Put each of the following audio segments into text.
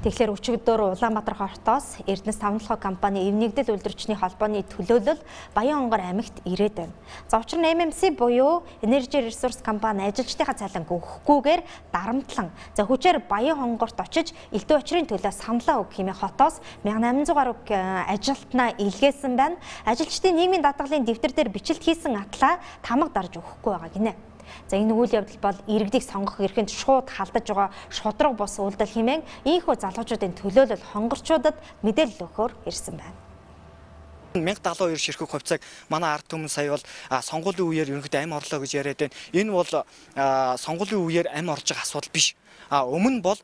Тэгэхээр өчигдөр Улаанбаатар хотоос Эрдэнэс тавталгаа компани эвнэгдэл үйлдвэрчний холбооны төлөөлөл Баянгонгор аймагт ирээд байна. За учир нь MMC буюу Energy Resource компани ажилчдынхаа цалин өгөхгүйгээр дарамтлан хүчээр Баянгонгорт очиж элдв очрын төлөө саналаа өг хэмээн хотоос 1800 гаруй ажилтнаа илгээсэн байна. Ажилчдын нийгмийн даатгалын дэвтэр дээр бичлэлт хийсэн атлаа тамга дарж өгөхгүй байгаа гинэ. За энэ үйл явдал бол иргэдийг сонгох эрхэнд шууд халдаж байгаа шудраг бус үйлдэл хэмээн ийхүү залуучуудын төлөөлөл хонгорчуудад мэдээлэл өгөхөөр ирсэн байна. 1072 ширхэг хувьцааг манай ард түмэн сая бол сонгуулийн үеэр ерөнхийдөө амь орлоо гэж яриад байна. Энэ бол сонгуулийн үеэр амь орж байгаа асуудал биш. Өмнө бол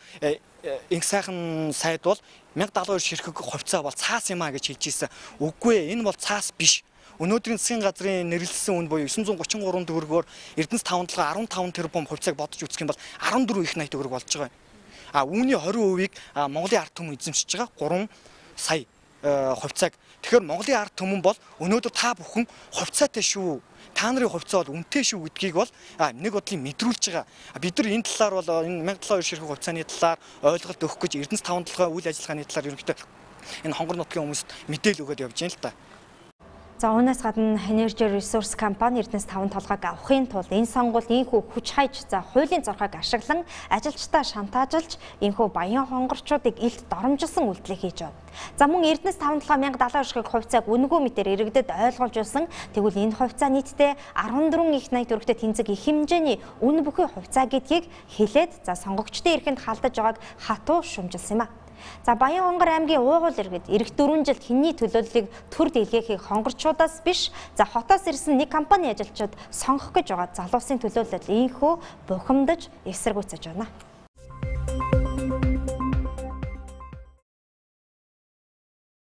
инх сайхан сайд бол 1072 ширхэг хувьцаа бол цаас юм а гэж хэлж ирсэн. Үгүй ээ, энэ бол цаас биш. Өнөөдрийн засгийн газрын нэрлэлсэн үн буюу 933 төгрөгөөр Эрдэнэс тавталгаа 15 тэрбум хувьцааг бодож үзэх юм бол 14 их 80 төгрөг болж байгаа. Үүний 20%-ийг Монголын ард түмэн эзэмшиж байгаа 3 сая хувьцааг. Тэгэхээр Монголын ард түмэн бол өнөөдөр та бүхэн хувьцаатай шүү. Та нарын хувьцаа бол үнэтэй шүү гэдгийг бол нэг бодлын мэдрүүлж байгаа. Бид нар энэ талаар бол энэ 1072 ширхэг хувьцааны талаар ойлголт өгөх гэж Эрдэнэс тавталгаа үйл ажиллагааны талаар ерөнхийдөө энэ хонгор нутгийн хүмүүст мэдээлэл өгöd явж байна л та. За үүнээс гадна Energy Resource компани Эрдэнэс тавталгааг авахын тулд энэ сонгуульд ийхүү хүч хайж хуулийн зорхойг ашиглан ажилчдаа шантаажлж ийхүү Баянгонгорчуудыг илт доромжилсон үйлдэлийг хийж байна. За мөн Эрдэнэс тавталгаа 1070 ширхэг хувьцааг үнэгүй мэтээр иргэдэд ойлгуулжсэн. Тэгвэл энэ хувьцаа нийтдээ 14 их 80 төгрөгтэй тэнцэг их хэмжээний үн бүхий хувьцаа гэдгийг хэлээд сонгогчдын эрхэнд халдаж байгааг хатуу шумжилсан юм а. За Баянгонгор аймгийн уугуул иргэд эх 4 жилд хинний төлөөллийг төр дэлгэхийг хонгорчудаас биш хотоос ирсэн нэг компани ажилчид сонгох гэж байгаа залуусын төлөөлөл ийхүү бухимдаж эсэргүүцэж байна.